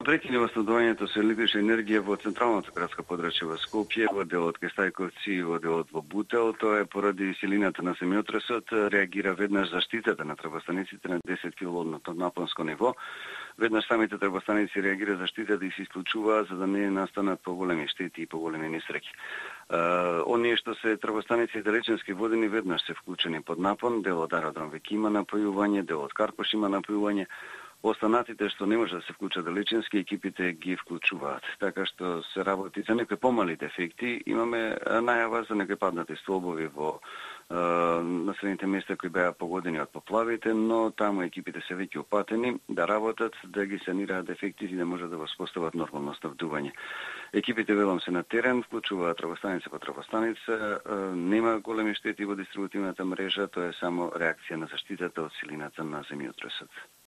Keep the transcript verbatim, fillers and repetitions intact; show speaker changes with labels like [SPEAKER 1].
[SPEAKER 1] Прекине во снабдувањето со електрична енергија во централната градска подрачје во Скопје, во делот кај Стајковци и во делот во Бутел. Тоа е поради силината на земјотресот, реагира веднаш заштитата на трбостаниците на десет киловолтно напонско ниво. Веднаш самите трбостаници реагира заштитата и се исклучуваат за да не настанат поголеми штети и поголеми несреќи. Оние што се трбостаници далеченски водени веднаш се вклучени под напон, делот аеродром веќе има напојување, делот Карпош има напојување. Останатите што не може да се вклучат далеченски, екипите ги вклучуваат. Така што се работи за некои помали дефекти. Имаме најава за некои паднати столбови во е, населените места кои беа погодени од поплавите, но таму екипите се веќе упатени да работат, да ги санираат дефектите и да можат да воспостават нормално снабдување. Екипите велам се на терен, вклучуваат трбостаница по трбостаница, нема големи штети во дистрибутивната мрежа, тоа е само реакција на заштитата од силината на земјотресот.